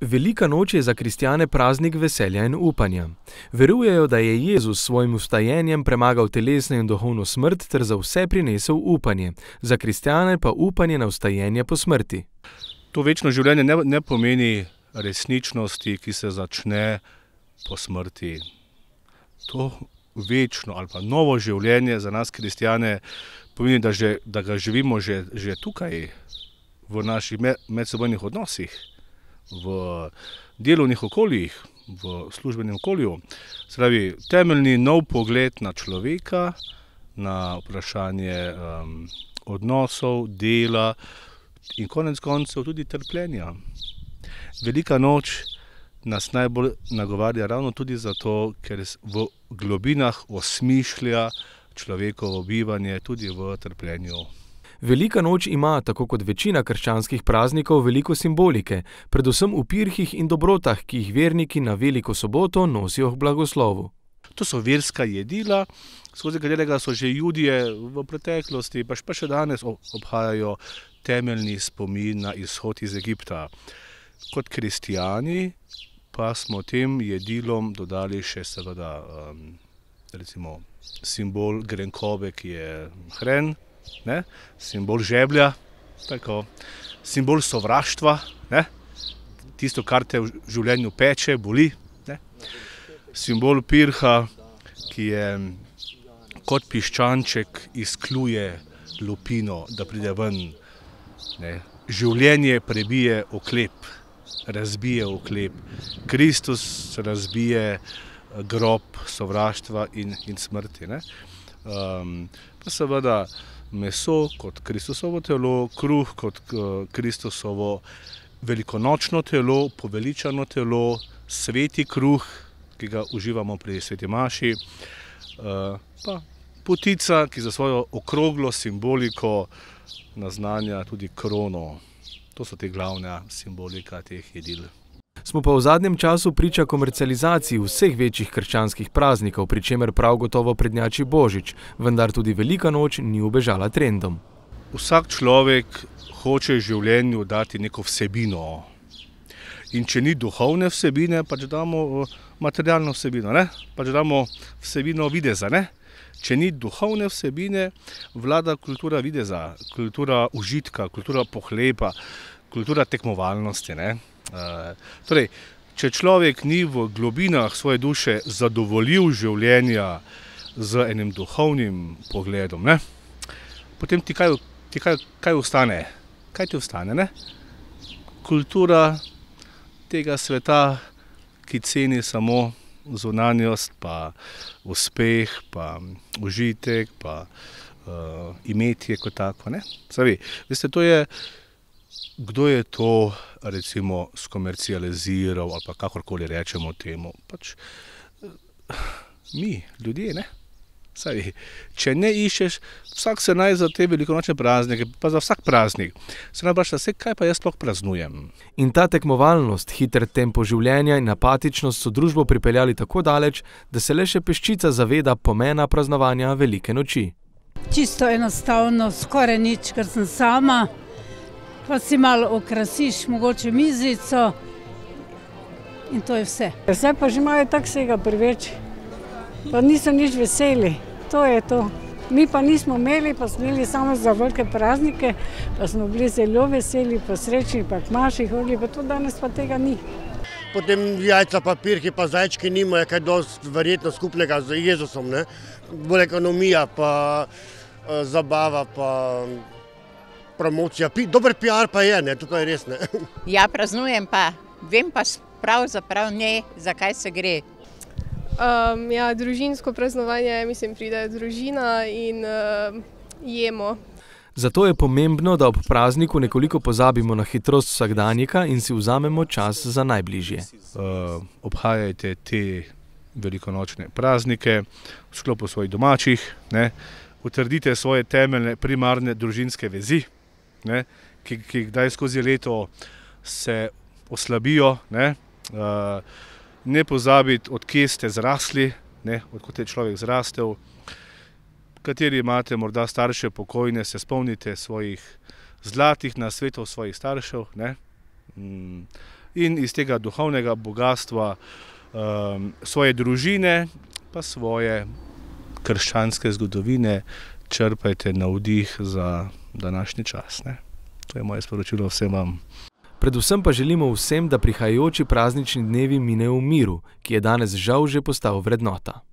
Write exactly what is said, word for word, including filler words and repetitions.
Velika noč je za kristjane praznik veselja in upanja. Verujejo, da je Jezus s svojim vstajenjem premagal telesno in duhovno smrt ter za vse prinesel upanje. Za kristjane pa upanje na vstajenje po smrti. To večno življenje ne, ne pomeni resničnosti, ki se začne po smrti. To večno ali pa novo življenje za nas kristjane pomeni, da, že, da ga živimo že, že tukaj, v naših medsebojnih odnosih, v delovnih okoljih, v službenem okolju. Spravi, temeljni nov pogled na človeka, na vprašanje um, odnosov, dela in konec koncev tudi trpljenja. Velika noč nas najbolj nagovarja ravno tudi zato, ker v globinah osmišlja človekovo bivanje tudi v trpljenju. Velika noč ima, tako kot večina krščanskih praznikov, veliko simbolike, predvsem v pirhih in dobrotah, ki jih verniki na veliko soboto nosijo k blagoslovu. To so verska jedila, skozi katerega so že Judje v preteklosti, pa še danes obhajajo temeljni spomin na izhod iz Egipta. Kot kristijani pa smo tem jedilom dodali še seveda um, recimo simbol grenkobe, ki je hren, ne? Simbol žeblja, tako, simbol sovraštva, ne? Tisto, kar te v življenju peče, boli, ne? Simbol pirha, ki je kot piščanček izkluje lupino, da pride ven. Ne? Življenje prebije oklep, razbije oklep. Kristus razbije grob sovraštva in, in smrti. Ne? Um, pa seveda meso kot Kristusovo telo, kruh kot Kristusovo velikonočno telo, poveličano telo, sveti kruh, ki ga uživamo pri sveti maši, uh, pa potica, ki za svojo okroglo simboliko naznanja tudi krono. To so te glavne simbolika teh jedil. Smo pa v zadnjem času priča komercializaciji vseh večjih krščanskih praznikov, pri čemer prav gotovo prednjači Božič, vendar tudi Velika noč ni ubežala trendom. Vsak človek hoče življenju dati neko vsebino. In če ni duhovne vsebine, pač damo materialno vsebino, ne? Pač damo vsebino videza, ne? Če ni duhovne vsebine, vlada kultura videza, kultura užitka, kultura pohlepa, kultura tekmovalnosti, ne? Uh, torej, če človek ni v globinah svoje duše zadovoljil življenja z enim duhovnim pogledom, ne? Potem ti kaj, ti kaj, kaj ostane? Kaj ti ostane, ne? Kultura tega sveta, ki ceni samo zunanjost, pa uspeh, pa užitek, pa uh, imetje kot tako, ne? Savi, veste, to je, kdo je to recimo skomercializiral ali pa kakorkoli rečemo temu? Pač mi, ljudje, ne? Savi, če ne iščeš, vsak se naj za te velikonočne praznike, pa za vsak praznik, se naj vpraša, kaj pa jaz sploh praznujem. In ta tekmovalnost, hiter tempo življenja in apatičnost so družbo pripeljali tako daleč, da se le še peščica zaveda pomena praznovanja Velike noči. Čisto enostavno, skoraj nič, ker sem sama, pa si malo okrasiš, mogoče mizico in to je vse. Zdaj pa že imajo tak vsega preveč, pa niso nič veseli, to je to. Mi pa nismo imeli, pa smo imeli samo za velike praznike, pa smo bili zelo veseli, pa srečni, pa k maši hodili, pa to danes pa tega ni. Potem jajca, pa pirhi, pa zajčki nimajo kaj dosti verjetno skupnega z Jezusom, ne? Bolj ekonomija, pa uh, zabava, pa promocija. Dober P R pa je, ne? To pa je res, ne? Ja, praznujem pa, vem pa pravzaprav ne, zakaj se gre. Um, ja, družinsko praznovanje, mislim, pride družina in uh, jemo. Zato je pomembno, da ob prazniku nekoliko pozabimo na hitrost vsakdanjika in si vzamemo čas za najbližje. Uh, obhajajte te velikonočne praznike v sklopu svojih domačih, ne? Utrdite svoje temeljne primarne družinske vezi, ne? Ki, ki kdaj skozi leto se oslabijo, ne? Uh, Ne pozabiti, od kje ste zrasli, ne, odkot je človek zrastel, kateri imate morda starše pokojne, se spomnite svojih zlatih nasvetov svojih staršev, ne, in iz tega duhovnega bogatstva um, svoje družine, pa svoje krščanske zgodovine črpajte navdih za današnji čas. Ne? To je moje sporočilo vsem vam. Predvsem pa želimo vsem, da prihajajoči praznični dnevi minejo v miru, ki je danes žal že postal vrednota.